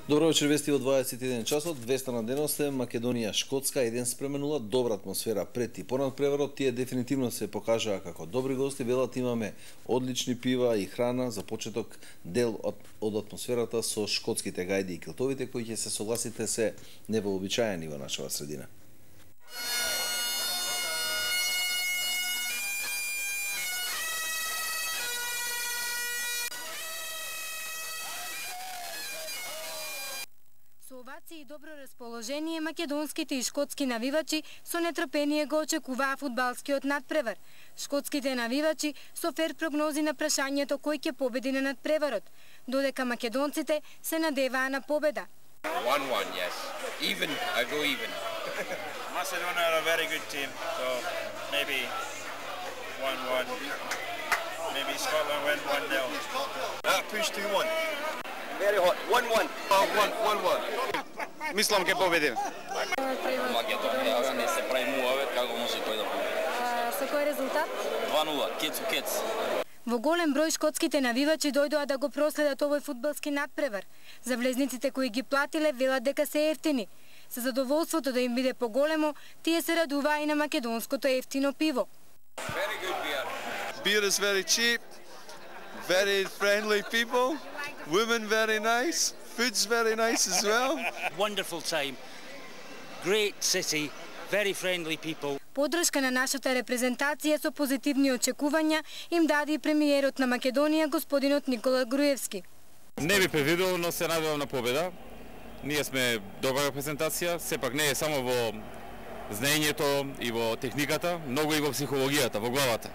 Добро вечер, вести во 21 часот, 200 на деносте, Македонија, Шкотска, 1:0, добра атмосфера пред и понад преварот, тие дефинитивно се покажаа како добри гости, велат имаме одлични пива и храна, за почеток дел од атмосферата со шкотските гајди и килтовите, кои ќе се согласите се невообичаени во нашава средина. Со овации и добро расположение, македонските и шкотски навивачи со нетрпение го очекуваа фудбалскиот надпревар. Шкотските навивачи со фер прогнози на прашањето кој ќе победи на надпреварот, додека македонците се надеваа на победа. 1-1, yes. Even, I go even. Macedonia are a very good team, so maybe 1-1. Maybe Scotland win 1-0. Push 2-1. Very hot. 1-1. 1-1. Мислам ќе победиме. Македонија не се прави муавет, како може тој да победи. Со кој резултат? 2-0, кец. Во голем број шкотските навивачи дојдоа да го проследат овој фудбалски надпревар. За влезниците кои ги платиле велат дека се ефтини. Со задоволството да им биде поголемо, тие се радуваа и на македонското ефтино пиво. Very good beer. Beer is very cheap. Very friendly people. Women very nice. Food's very nice as well. Wonderful time. Great city. Very friendly people. Подршка на нашата репрезентација со позитивни очекувања им даде и премиерот на Македонија, господинот Никола Груевски. Не би предвидел, но се надевам на победа. Ние сме добра репрезентација, сепак не е само во знаењето и во техниката, многу и во психологијата, во главата.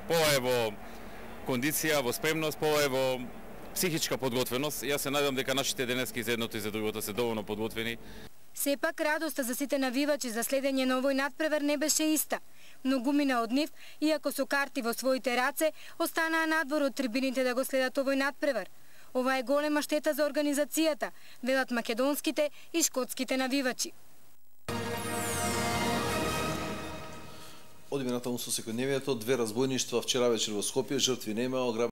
Пола е во кондиција, во спремност, пола е во психичка подготвеност. Јас се надевам дека нашите денески за едното и за другото се доволно подготвени. Сепак радоста за сите навивачи за следење на овој надпревар не беше иста. Многумина од нив, иако со карти во своите раце, останаа надвор од трибините да го следат овој надпревар. Ова е голема штета за организацијата, велат македонските и шкотските навивачи. Одиме натаму со секојдневието, 2 разбойништва вчера вечер во Скопје, жртви нема,